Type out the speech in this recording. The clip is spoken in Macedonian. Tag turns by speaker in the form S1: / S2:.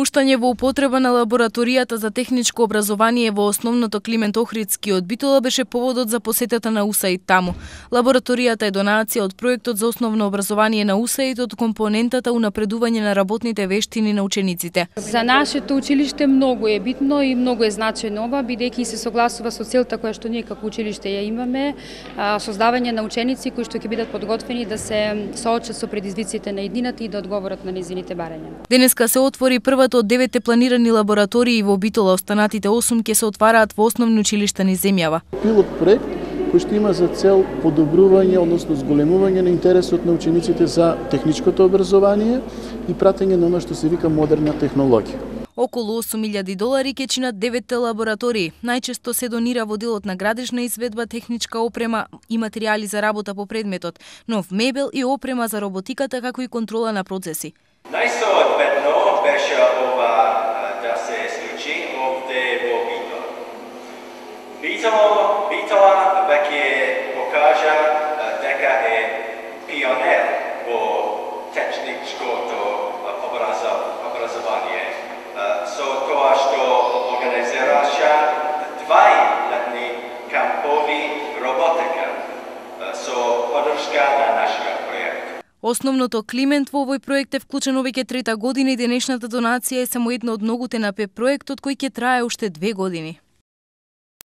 S1: Пуштање во употреба на лабораторијата за техничко образование во основното Климент Охридски од Битола беше поводот за посетата на УСАИД таму. Лабораторијата е донација од проектот за основно образование на УСАИД од компонентата унапредување на работните вештини на учениците.
S2: За нашето училиште многу е битно и многу е значајно ова, бидејќи се согласува со целта која што ние како училиште ја имаме, создавање на ученици кои што ќе бидат подготвени да се соочат со предизвиците на иднината и да одговорат на нејзините барања.
S1: Денеска се отвори првата од 9 планирани лаборатории во Битола, останатите 8 ќе се отвараат во основни училишта низ земјава.
S3: Пилот проект кој што има за цел подобрување, односно зголемување на интересот на учениците за техничкото образование и пратење на она што се вика модерна технологија.
S1: Околу $8.000 ќе чинат 9 лаборатории. Најчесто се донира во делот на градежна изведба, техничка опрема и материјали за работа по предметот, нов мебел и опрема за роботиката, како и контрола на процеси.
S4: Најсоодветно беше ова да се случи овде во Битола. Битола веќе покажа дека е пионер во техничкото образование. Со тоа што организираша 2 летни кампови роботика со поддршка на нашиот проект.
S1: Основното Климент во овој проект е вклучено веќе 3-та година и денешната донација е само една од многуте на ПЕП проектот кој ќе трае уште 2 години.